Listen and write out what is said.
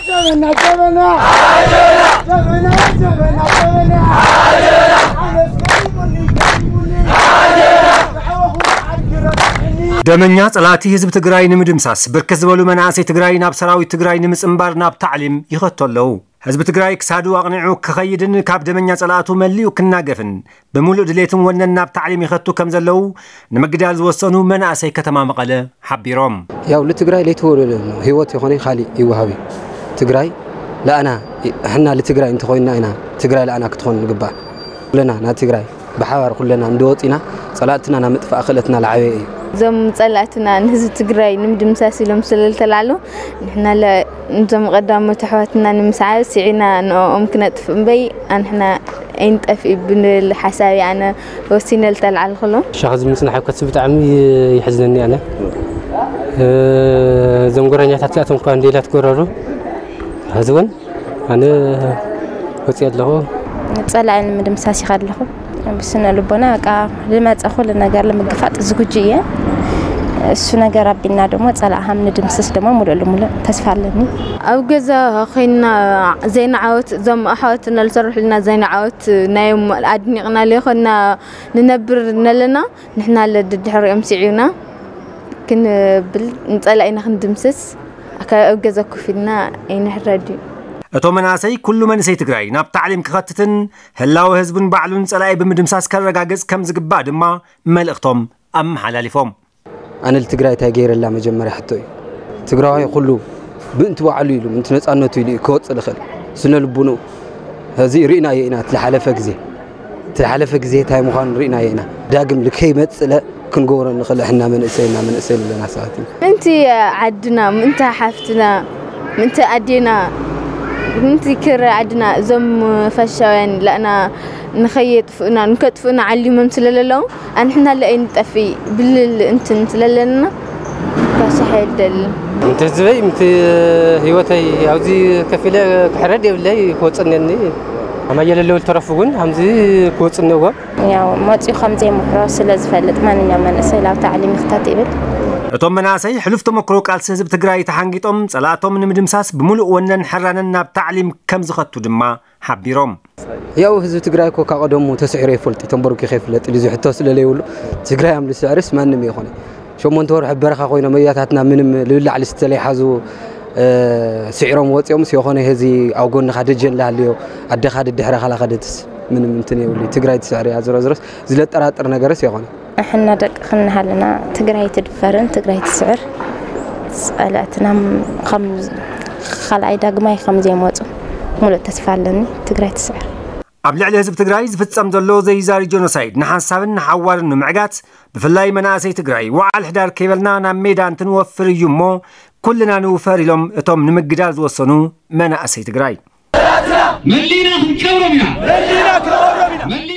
ጀበና ጀበና ጀበና ጀበና ጀበና ደመኛ ጸላእቲ ህዝቢ ትግራይ ንምድምሳስ ብርክት ዝበሉ መናእሰይ ትግራይ ናብ ሰራዊት ትግራይ ንምጽንባር ናብ ታዕሊም ይኸቱ ኣለዉ። ህዝቢ ትግራይ ክሳዱ ኣቕኒዑ ክኸይድን ካብ ደመኛ ጸላእቱ መሊኡ ክናገፍን ብምሉእ ድሌትን ወነን ናብ ታዕሊም ይኸቱ ከም ዘለዉ ንምግዳል ዝወሰኑ መናእሰይ ከተማ መቐለ ሓቢሮም። ያው ለትግራይ ለይተወለደ ነው ህይወት የኾነ ካሊእ ይወሃብ እዩ። ትግራይ ለኣና ሕና ለትግራይ እንተኾይንና ኢና ትግራይ ለኣና ክትኾን ንግባእ። ኩለና ናብ ትግራይ ብሓባር ኩለና እንደወፂና ጸላእትና ናብ ምጥፋእ ክእለትና ለዓበየ እዩ። እዞም ጸላእትና ንህዝቢ ትግራይ ንምድምሳስ ኢሎም ስለ ዝተላዕሉ ንሕና ለ- ንዞም ቀዳሞት ኣሕዋትና ንምስዓር ስዒና ንኦም ክነጥፍ እምበይ ኣንሕና ኣይንጠፍ ብንብል ሓሳብ ኣነ ወሲነ ዝተላዓልኩሎም። ሻኽ ዝምፅና ሓከት ብጣዕሚ ይሕዝነኒ ኣነ። እ፣ እዞም ጎረኛታት እዚኣቶም እኳ እንዴላ ትጎረሩ ሕዚ እውን ኣነ ወፂ ኣለኹ። ጸላኢ ንምድምሳስ ይኸድ ኣለኹ። ብስነ ልቦና በቃ ልመጸ ኩሉ ነገር ልምግፋጥ ዝግጁ እየ። እሱ ነገር ኣቢልና ደሞ ጸላእ ሃም ንድምስስ ደሞ ሙሉእ ልሙሉእ ተስፋ ኣለኒ። ኣብ ገዛ ኮይና ዘይንዓወት እዞም ኣሕዋትና ዝሰርሑልና ዘይንዓወት ናዮም ኣድኒቕና ለይኮና ንነብር ነለና ንሕና ለድድሕሪኦም ስዒና ክንብል ንጸላኢና ክንድምስስ ካብ ኣብ ገዛ ኮፍ ኢልና ኣይንሕረድ እዩ። እቶም መናእሰይ ኩሉ መንእሰይ ትግራይ ናብ ታዕሊም ክኸትትን ህላወ ህዝቡን ባዕሉን ጸላኢ ብምድምሳስ ከረጋግጽ ከም ዝግባእ ድማ መልእኽቶም ኣመሓላሊፎም። ኣነ ልትግራይ እንታይ ገይረላ መጀመርያ ሕቶ እዩ። ትግራዋይ ኩሉ ብእንቲ ባዕሉ ኢሉ ምንቲ ነፃነቱ ኢሉ እዩ ክወፅእ ልኽእል ስነ ልቡንኡ። እዚ ርኢናዮ ኢና እቲ ዝሓለፈ ግዜ እቲ ዝሓለፈ ግዜ እንታይ ምዃኑ ርኢናዮ ኢና። ዳግም ልከይመፅእ ለ ክንገብሮ ንኽእል ሕና መንእሰይና መንእሰይ ዘለና ሰባት እዩ። ምእንቲ ዓድና ምእንቲ ሓፍትና ምእንቲ ኣዴና ምእንቲ ክረ ዓድና እዞም ፋሽስታውያን ለእና ንኸየጥፍኡና ንከጥፍኡና ዓሊሞም ስለለለዉ ኣንሕና ለኣይ ንጠፊ ብልል እንትን ስለለና ካሳሕ የደልን። ምእንቲ ህዝበይ ምእንቲ ህይወተይ ኣብዚ ከፊለ ክሕረድ የብለይ ክወፅነኒ ኣማየ ለለው ልተረፉ እውን ከምዚ ክወፅነዎም ያው መፂኡ ከም ዘይምሕሮ ስለ ዝፈልጥ ማንኛውም መንእሰይ ላብ ታዕሊም ይኽተት ይብል። እቶም መናእሰይ ሕሉፍ ተመክሮ ቃልሲ ህዝቢ ትግራይ ተሓንጊጦም ጸላእቶም ንምድምሳስ ብምሉእ ወነን ሕራነን ናብ ታዕሊም ከም ዝኸቱ ድማ ሓቢሮም። ያው ህዝቢ ትግራይ እኮ ካብ ቀደሙ ተስዒሩ ይፈልጥ እዩ ተንበርኪኹ ይፍለጥ እዩ ዝሕቶ ስለ ዘይብሉ ትግራይ ኣም ዝስዕርስ ማንም ይኾነ ሸሞንተ ወርሒ በረኻ ኮይኖም መያታትና ምንም ልብላዕ ልስተ ለይሓዙ ስዒሮም ወፂኦም የኾነ ህዚ ኣብ ጎንኻ ደጀን ላሃልዮ ኣደኻ ድድሕረኻ ላኸደትስ ምንም እንትን የብሉ ትግራይ ትስዕር እያ ዝረዝረስ ዝለጠራጥር ነገርስ የኾነ። ኣሕና ደቂ ክንሃልና ትግራይ ትድፈርን ትግራይ ትስዕር ጸላእትና ከም ካልኣይ ዳግማይ ከም ዘይመፁ ሙሉእ ተስፋ ኣለኒ። ትግራይ ትስዕር። ኣብ ልዕሊ ህዝቢ ትግራይ ዝፍጸም ዘሎ ዘይዛሪ ጀኖሳይድ ንሓንሳብን ንሓዋርን ንምዕጋት ብፍላይ መናእሰይ ትግራይ ወዓል ሕዳር ከይበልና ናብ ሜዳ እንትንወፍር እዩ እሞ ኩልና ንውፈር ኢሎም እቶም ንምግዳል ዝወሰኑ መናእሰይ ትግራይ። መሊና ክንቀብሮም ኢና።